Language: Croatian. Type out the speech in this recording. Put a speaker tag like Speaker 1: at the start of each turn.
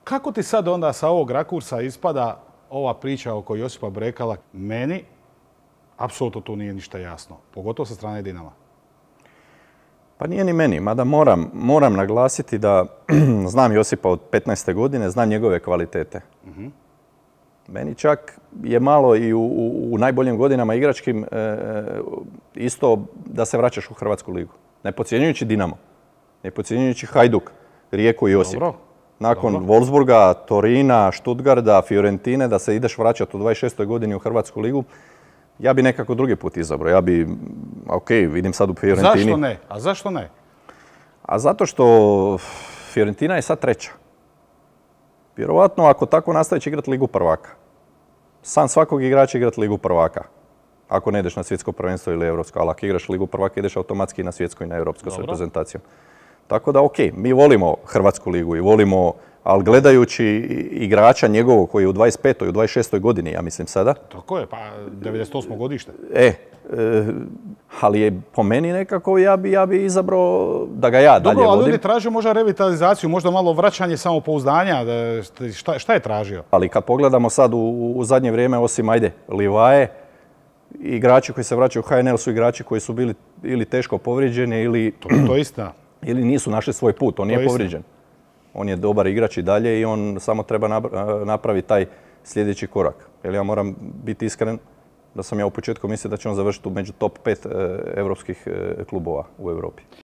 Speaker 1: Kako ti sad onda sa ovog rakursa ispada ova priča oko Josipa Brekala? Meni apsolutno tu nije ništa jasno, pogotovo sa strane Dinama.
Speaker 2: Pa nije ni meni, mada moram naglasiti da znam Josipa od 15. godine, znam njegove kvalitete. Meni čak je malo i u najboljim godinama igračkim isto da se vraćaš u Hrvatsku ligu. Ne podcjenjujući Dinamo, ne podcjenjujući Hajduk, Rijeku i Osijek. Nakon Wolfsburga, Torina, Stuttgarda, Fiorentine, da se ideš vraćati u 26. godini u Hrvatsku ligu, ja bi nekako drugi put izabrao. Ja bi, vidim sad u Fiorentini.
Speaker 1: Zašto ne? A zašto ne?
Speaker 2: A zato što Fiorentina je sad treća. Vjerovatno ako tako nastavi će igrati Ligu prvaka. San svakog igrača igrati Ligu prvaka. Ako ne ideš na svjetsko prvenstvo ili europsko, ali ako igraš Ligu prvaka ideš automatski na svjetsko i na europsko s reprezentacijom. Tako da mi volimo Hrvatsku ligu i volimo, ali gledajući igrača njegovog koji je u 25. i u 26. godini, ja mislim sada.
Speaker 1: Tako je, pa 98. godište.
Speaker 2: Ali je po meni nekako ja bi izabrao da ga ja dalje vodim.
Speaker 1: Dobro, ali ljudi traže možda revitalizaciju, možda malo vraćanje samopouzdanja. Šta je tražio?
Speaker 2: Ali kad pogledamo sad u zadnje vrijeme, osim Livaje, igrači koji se vraćaju u HNL su igrači koji su bili ili teško povrijeđeni
Speaker 1: To je istina.
Speaker 2: Ili nisu našli svoj put. On nije povrijeđen. On je dobar igrač i dalje i on samo treba napraviti taj sljedeći korak. Jer ja moram biti iskren da sam ja u početku mislio da će on završiti među top 5 europskih klubova u Europi.